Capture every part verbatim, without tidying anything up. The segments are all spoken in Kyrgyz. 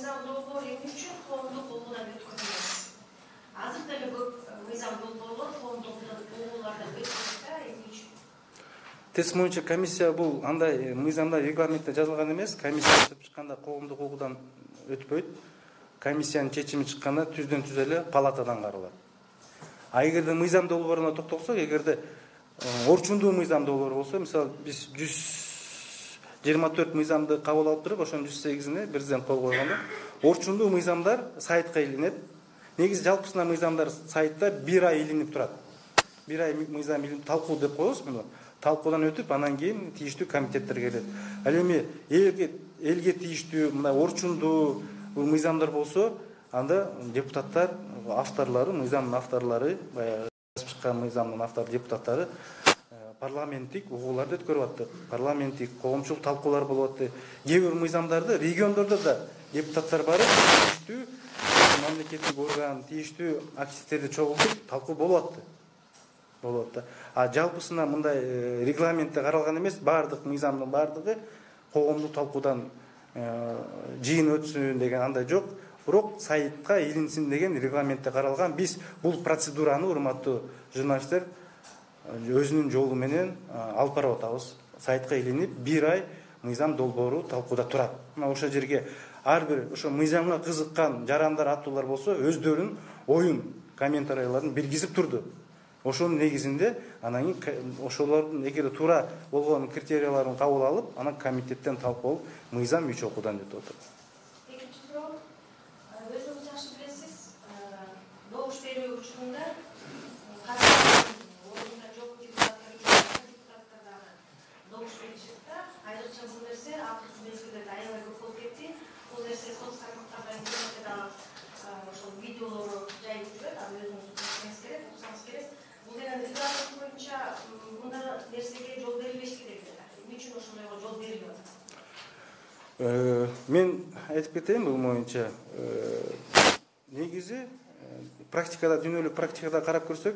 мыйзам долбоор эмне үчүн коомдук угуудан өткөн эмес? Азыр деле көп мыйзам долбоорлор коомдук угуулардан өткөн да, эмне үчүн? Тез боюнча комиссия бул андай мыйзамда регламентте жазылган эмес. Комиссия өтүп чыкканда коомдук угуудан өтпөйт. Комиссиянын чечими чыкканда түздөн түз эле палатадан каралат. А эгерде мыйзам долбооруна токтолсок, эгерде орчундуу мыйзам долбоору болсо, мисалы биз жүз жыйырма төрт мыйзамды кабыл алып туруп, ошонун жүз сегизине президент кол койгондо, орчундуу мыйзамдар сайтка илинет. Негизи жалпысына мыйзамдар сайтта бир ай илинип турат. Бир ай мыйзам илинип талкуу деп коебуз муну. Талкуудан өтүп, анан кийин тийиштүү комитеттерге келет. Ал эми элге элге тийиштүү мындай орчундуу мыйзамдар болсо, анда депутаттар, авторлору, мыйзамдын авторлору, баягы жазып чыккан мыйзамдын автор депутаттары парламенттик угууларды өткөрүп атты. Парламенттик коомчулук талкуулар болуп атты. Кээ бир мыйзамдарды региондордо да депутаттар барып, тийиштүү мамлекеттик орган, тийиштүү активисттерди чогултуп талкуу болуп атты. Болуп атты. А жалпысына мындай регламентте каралган эмес, баардык мыйзамдын баардыгы коомдук талкуудан жыйын өтсүн деген андай жок. Бирок сайтка илинсин деген регламентте каралган. Биз бул процедураны, урматтуу журналисттер, өзүнүн жолу менен алып барып атабыз. Сайтка илинип бир ай мыйзам долбоору талкууда турат. Мына ошол жерге ар бир ошо мыйзамга кызыккан жарандар, аттуулар болсо, өздөрүнүн оюн, комментарийлерин билгизип турду. Ошонун негизинде анан кийин ошолордун эгер туура болгон критерияларын кабыл алып, анан комитеттен талкуу болуп, мыйзам үч окуудан өтүп атат. Экинчи суроо, өзүңүз жакшы билесиз, добуш берүү учурунда ордунда жок депутаттар үчүн депутаттар дагы добуш беришет да, айрыкча бул нерсе акыркы мезгилдерде аябай көп болуп кетти. Бул нерсе соц тармактарда интернетте дагы ошол видеолору жайылып жүрөт, аны өзүңүз билсеңиз керек, уксаңыз керек. Бул деген регламент боюнча мындай нерсеге жол берилбеш керек эле. Эмне үчүн ошондойго жол берилип атат? Мен айтып кетейин бул боюнча. Негизи практикада, дүйнөлүк практикада карап көрсөк,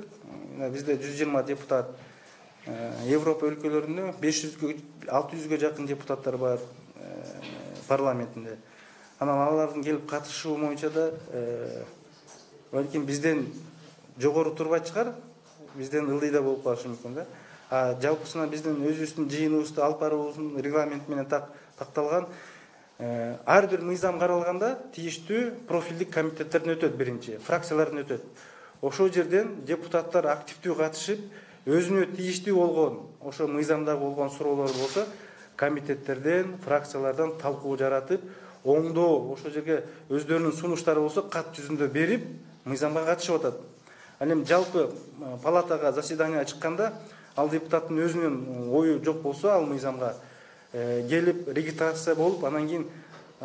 бизде жүз жыйырма депутат, Европа өлкөлөрүндө беш жүзгө, алты жүзгө жакын депутаттар бар парламентинде. Анан алардын келип катышуу боюнча да балким бизден жогору турбайт чыгар, бизден ылдый да болуп калышы мүмкүн да. А жалпысына биздин өзүбүздүн жыйыныбызды алып баруубуздун регламент менен такталган. Ар бир мыйзам каралганда тийиштүү профилдик комитеттерден өтөт, биринчи, фракциялардан өтөт. Ошол жерден депутаттар активдүү катышып, өзүнө тийиштүү болгон, ошо мыйзамдагы болгон суроолор болсо, комитеттерден, фракциялардан талкуу жаратып, оңдоо, ошол жерге өздөрүнүн сунуштары болсо, кат жүзүндө берип, мыйзамга катышып атат. Ал эми жалпы палатага заседание чыкканда, ал депутаттын өзүнүн ою жок болсо, ал мыйзамга келип регистрация болуп, анан кийин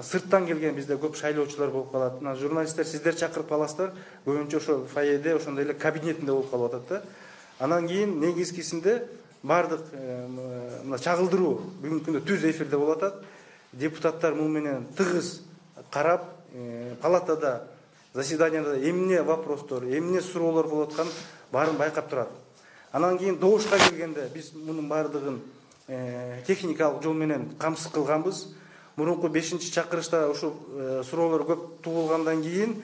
сырттан келген бизде көп шайлоочулар болуп калат. Мына журналисттер сиздер чакырып аласыздар, көбүнчө ошо фойеде, ошондой эле кабинетинде болуп калып атат да. Анан кийин негизгисинде бардык мына чагылдыруу бүгүнкү күндө түз эфирде болуп атат. Депутаттар муну менен тыгыз карап, палатада, заседанияда эмне вопростор, эмне суроолор болуп атканын баарын байкап турат. Анан кийин добушка келгенде биз мунун баардыгын техникалык жол менен камсыз кылганбыз. Мурунку бешинчи чакырышта ушул суроолор көп туулгандан кийин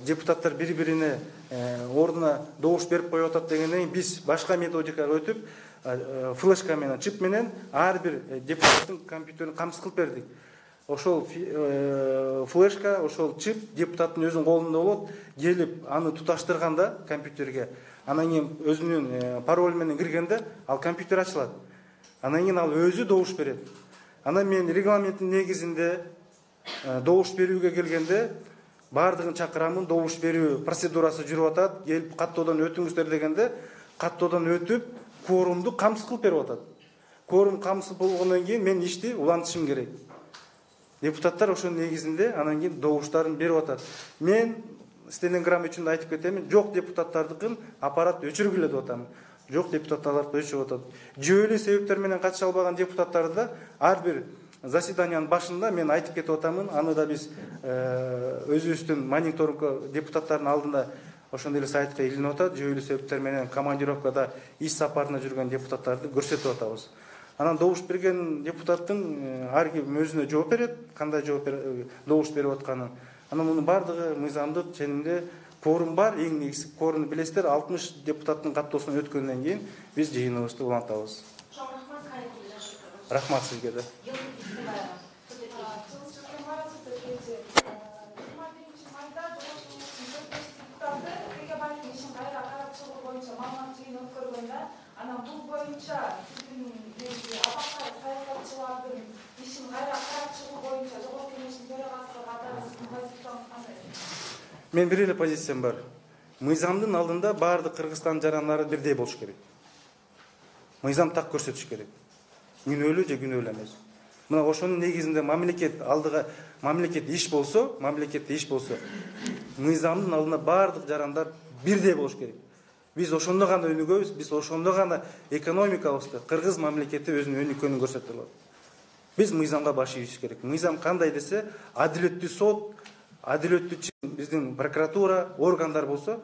депутаттар бири-бирине ордуна добуш берип коюп атат дегенден кийин биз башка методикага өтүп, флешка менен, чип менен ар бир депутаттын компьютерин камсыз кылып бердик. Ошол флешка, ошол чип депутаттын өзүнүн колунда болот, келип аны туташтырганда компьютерге, анан кийин өзүнүн пароль менен киргенде ал компьютер ачылат. Анан кийин ал өзү добуш берет. Анан мен регламенттин негизинде добуш берүүгө келгенде баардыгын чакырамын, добуш берүү процедурасы жүрүп атат, келип каттоодон өтүңүздөр дегенде, каттоодон өтүп, кворумду камсыз кылып берип атат. Кворум камсыз болгондон кийин мен ишти улантышым керек. Депутаттар ошонун негизинде анан кийин добуштарын берип атат. Мен стенограмма үчүн айтып кетемин, жок депутаттардыкын аппарат өчүргүлө деп атам. Жок депутаттар өчүрүп атат. Жүйөлүү себептер менен катыша албаган депутаттарды да ар бир заседаниянын башында мен айтып кетип атамын. Аны да биз өзүбүздүн мониторинг депутаттардын алдында ошондой эле сайтка илинип атат. Жүйөлүү себептер менен командировкада иш сапарына жүргөн депутаттарды көрсөтүп атабыз. Анан добуш берген депутаттын ар ким өзүнө жооп берет, кандай жооп добуш берип атканын. Анан мунун баардыгы мыйзамдык ченемде кворум бар. Эң негизги кворумду билесиздер, алтымыш депутаттын каттоосунан өткөндөн кийин биз жыйыныбызды улантабыз. Рахмат сизге да. Анан бул боюнча сиздин абакай саясатчылардын ишин кайра карап чыгуу боюнча Жогорку Кеңештин төрагасы катары сиздин позицияңыз кандай? Мен бир эле позициям бар. Мыйзамдын алдында баардык Кыргызстан жарандары бирдей болуш керек. Мыйзам так көрсөтүш керек. Күнөөлүү же күнөөлүү эмес. Мына ошонун негизинде мамлекет алдыга мамлекет иш болсо, мамлекетте иш болсо, мыйзамдын алдында баардык жарандар бирдей болуш керек. Биз ошондо гана өнүгөбүз, биз ошондо гана экономикабызды, кыргыз мамлекети өзүнүн өнүккөнүн көрсөтө алат. Биз мыйзамга баш ийишибиз керек. Мыйзам кандай десе, адилеттүү сот, адилеттүү биздин прокуратура, органдар болсо,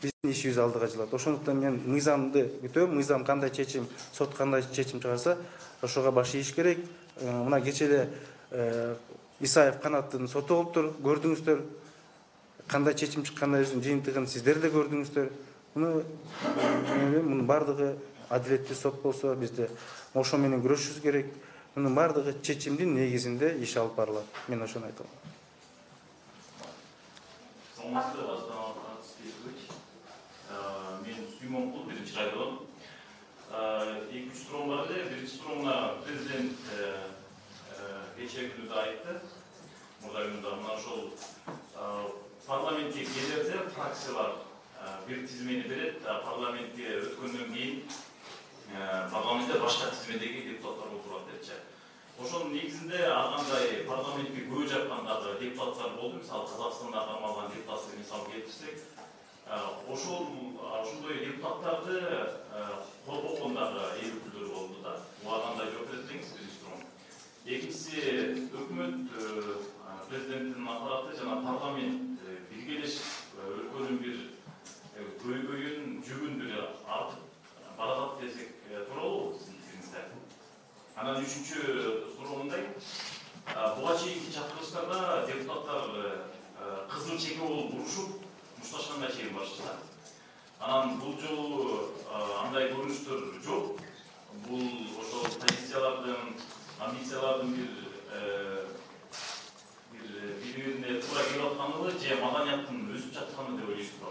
биздин ишибиз алдыга жылат. Ошондуктан мен мыйзамды күтөм, мыйзам кандай чечим, сот кандай чечим чыгарса, ошого баш ийиш керек. Мына кече эле Исаев Канаттын соту болуптур, көрдүңүздөр. Кандай чечим чыккандыгын жыйынтыгын сиздер да көрдүңүздөр. Муну мунун баардыгы адилеттүү сот болсо, бизде ошо менен күрөшүшүбүз керек. Мунун баардыгы чечимдин негизинде иш алып барылат. Мен ошону айтам. Саламатсызбы, Астаналык спикер. Мен Сүймөнкул, биринчи район. эки үч суроо бар эле. Биринчи суроону президент кечээ күнү айтты. Мурда күндө мына ошол парламентке келерде фракциялар бир тизмени берет, парламентке өткөндөн кийин парламентте башка тизмедеги депутаттар отурат депчи. Ошонун негизинде ар кандай парламентке көбү жаккандагы депутаттар болду. Мисалы Казакстанда кармалган депутатты мисалы келтирсек, ошол ошондой депутаттарды коргогондагы эл өкүлдөрү болду да. Буга кандай жооп берет деңиз, биринчи суроо. Экинчиси, өкмөт, президенттин аппараты жана парламент биргелешип өлкөнүн бир көйгөйүн, жүгүн бир артып баратат десек тууралуу сиздин пикириңизде. Анан үчүнчү суроо мындай. Буга чейинки чакырылыштарда депутаттар кызыл чеке болуп урушуп, мушташканга чейин барышты. Анан бул жолу андай көрүнүштөр жок. Бул ошол позициялардын, амбициялардын бир бир бири-бирине туура келип атканыбы же маданияттын өсүп жатканы деп ойлойсузбу?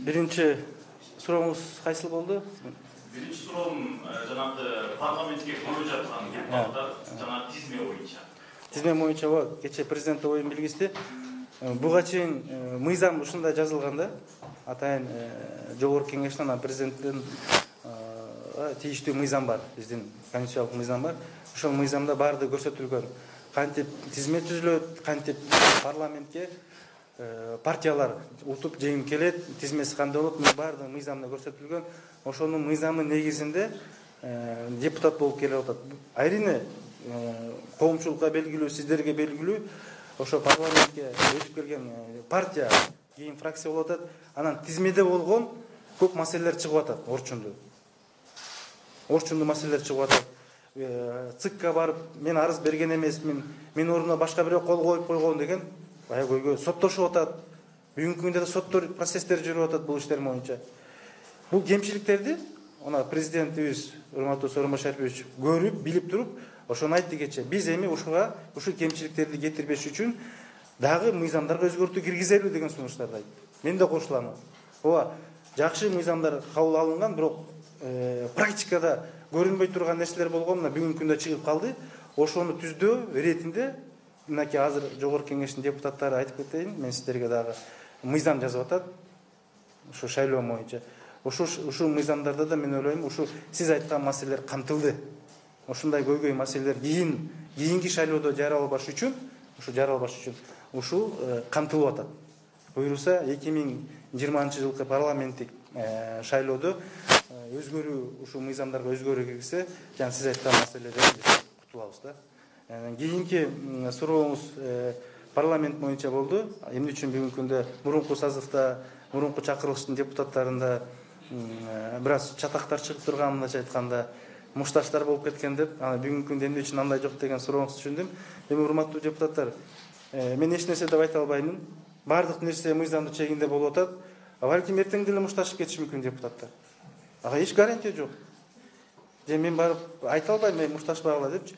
Биринчи сурооңуз кайсыл болду? Биринчи суроом жанагы парламентке көбү жаткан депутаттар жана тизме боюнча. Тизме боюнча кече президент оюн билгизди. Буга чейин мыйзам ушундай жазылган да. Атайын Жогорку Кеңештин анан президенттин тийиштүү мыйзам бар, биздин конституциялык мыйзам бар. Ошол мыйзамда баардыгы көрсөтүлгөн. Кантип тизме түзүлөт, кантип парламентке партиялар утуп жеңип келет, тизмеси кандай болот, мунун баардыгы мыйзамда көрсөтүлгөн. Ошонун мыйзамы негизинде депутат болуп келип атат. Айрине коомчулукка белгилүү, сиздерге белгилүү, ошо парламентке өтүп келген партия кийин фракция болуп атат. Анан тизмеде болгон көп маселелер чыгып атат, орчундуу. Орчундуу маселелер чыгып атат. ЦИКка барып, мен арыз берген эмесмин, мен ордуна башка бирөө кол коюп койгон деген бая көйгөй соттошуп атат. Бүгүнкү күндө да соттор процесстер жүрүп атат бул иштер боюнча. Бул кемчиликтерди ана президентибиз урматтуу Сооронбай Шарипович көрүп, билип туруп, ошону айтты кече. Биз эми ушуга ушул кемчиликтерди кетирбеш үчүн дагы мыйзамдарга өзгөртүү киргизелүү деген сунуштарды айтты. Мен да кошулам. Ооба, жакшы мыйзамдар кабыл алынган, бирок практикада көрүнбөй турган нерселер болгон, мына бүгүнкү күндө чыгып калды. Ошону түздөө иретинде мынакей азыр Жогорку Кеңештин депутаттары айтып кетейин, мен сиздерге дагы мыйзам жазып атат. Ушу шайлоо боюнча. Ушу ушул мыйзамдарда да мен ойлойм, ушу сиз айткан маселелер камтылды. Ошундай көйгөй маселелер кийин кийинки шайлоодо жаралбаш үчүн, ушу жаралбаш үчүн ушул камтылып атат. Буюрса эки миң жыйырманчы жылкы парламенттик шайлоодо өзгөрүү, ушул мыйзамдарга өзгөрүү киргизсе, жана сиз айткан маселелерден биз кутулабыз да. Кийинки сурооңуз парламент боюнча болду. Эмне үчүн бүгүнкү күндө мурунку сазывда, мурунку чакырылыштын депутаттарында бир аз чатактар чыгып турган, мындайча айтканда мушташтар болуп кеткен деп, анан бүгүнкү күндө эмне үчүн андай жок деген сурооңузду түшүндүм. Эми урматтуу депутаттар, мен эч нерсе деп айта албаймын. Баардык нерсе мыйзамдын чегинде болуп атат. Балким эртең деле мушташып кетиши мүмкүн депутаттар. Ага эч гарантия жок. Же мен барып айта албайм, мен мушташпагыла депчи.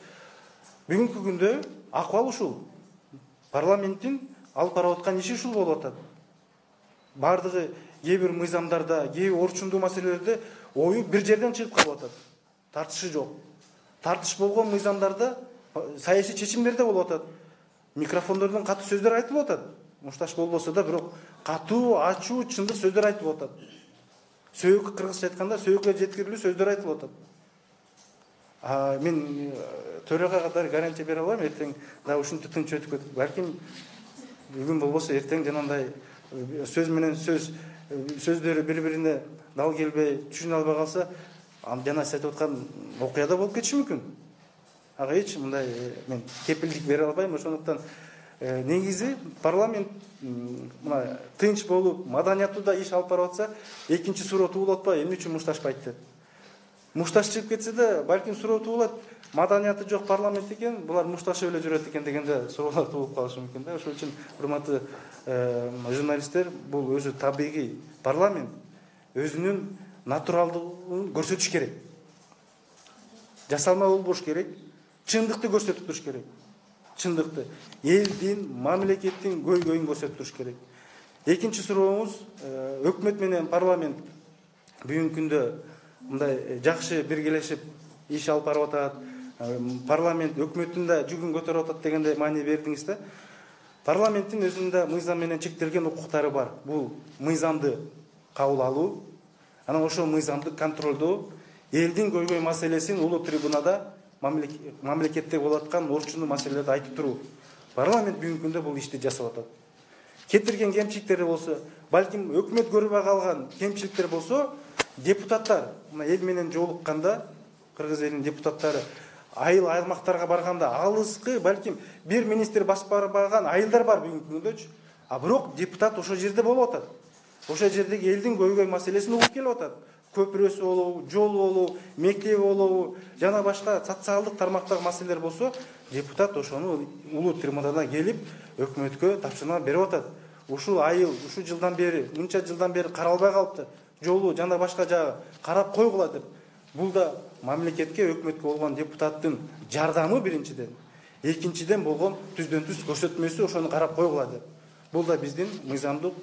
Бүгүнкү күндө акыбал ушул. Парламенттин алып барып аткан иши ушул болуп атат. Бардыгы кээ бир мыйзамдарда, кээ бир орчундуу маселелерде ою бир жерден чыгып калып атат. Тартышы жок. Тартыш болгон мыйзамдарда саясий чечимдер да болуп атат. Микрофондордон катуу сөздөр айтылып атат. Мушташ болбосо да, бирок катуу, ачуу, чындык сөздөр айтылып атат. Сөйөк, кыргызча айтканда, сөйөккө жеткирилүү сөздөр айтылып атат. А мен төрага катары гарантия бере албайм, эртең дагы ушинтип тынч өтүп кетип. Балким бүгүн болбосо эртең жанагындай сөз менен сөз сөздөрү бири-бирине дал келбей, түшүнө албай калса, жана сиз айтып аткан окуя да болуп кетиши мүмкүн. Ага эч мындай мен кепилдик бере албайм. Ошондуктан негизи парламент мына тынч болуп, маданияттуу да иш алып барып атса, экинчи суроо туулуп атпайбы, эмне үчүн мушташпайт деп. Мушташ чыгып кетсе да, балким суроо туулат, маданияты жок парламент экен, булар мушташып эле жүрөт экен дегенде суроолор туулуп калышы мүмкүн да. Ошол үчүн урматтуу журналисттер, бул өзү табигый парламент өзүнүн натуралдыгын көрсөтүш керек. Жасалма болбош керек, чындыкты көрсөтүп туруш керек. Чындыкты, элдин, мамлекеттин көйгөйүн көрсөтүп туруш керек. Экинчи сурооңуз, өкмөт менен парламент бүгүнкү күндө мындай жакшы биргелешип иш алып барып атат. Парламент өкмөттүн да жүгүн көтөрүп атат дегенде маани бердиңиз да. Парламенттин өзүнүн да мыйзам менен чектелген укуктары бар. Бул мыйзамды кабыл алуу, анан ошол мыйзамды контролдоо, элдин көйгөй маселесин улуу трибунада мамлекетте болуп аткан орчундуу маселелерди айтып туруу. Парламент бүгүнкү күндө бул ишти жасап атат. Кетирген кемчиликтери болсо, балким өкмөт көрбөй калган кемчиликтер болсо, депутаттар мына эл менен жолукканда, кыргыз элинин депутаттары айыл аймактарга барганда, алыскы балким бир министр басып барбаган айылдар бар бүгүнкү күндөчү. А бирок депутат ошол жерде болуп атат. Ошол жердеги элдин көйгөй маселесин угуп келип атат. Көпүрөсү болобу, жолу болобу, мектеби болобу, жана башка социалдык тармактагы маселелер болсо, депутат ошону улуу трибунада келип өкмөткө тапшырма берип атат. Ушул айыл, ушул жылдан бери, мынча жылдан бери каралбай калыпты. Жолу жана башка жагы карап койгула деп. Бул да мамлекетке, өкмөткө болгон депутаттын жардамы биринчиден, экинчиден болгон түздөн түз көрсөтмөсү, ошону карап койгула деп. Бул да биздин мыйзамдык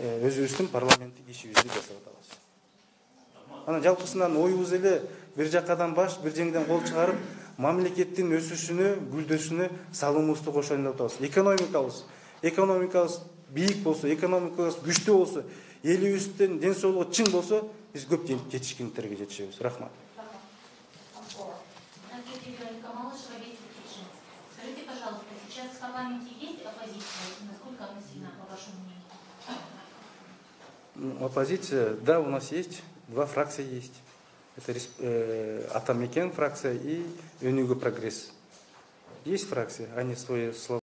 өзүбүздүн парламенттик ишибизди жасап атабыз. Анан жалпысынан оюбуз эле бир жакадан баш, бир жеңден кол чыгарып, мамлекеттин өсүшүнө, гүлдөшүнө салымыбызды кошоюн деп атабыз. Экономикабыз, экономикабыз бийик болсо, экономикабыз күчтүү болсо, элибиздин ден соолугу чың болсо, биз көп жетишкендерге жетишебиз. Рахмат. Скажите, пожалуйста, сейчас в парламенте есть оппозиция? Насколько она сильна, по вашему мнению? Оппозиция, да, у нас есть. Два фракции есть. Это э, Атамекен фракция и Өнүгүү прогресс. Есть фракции, они свои слова.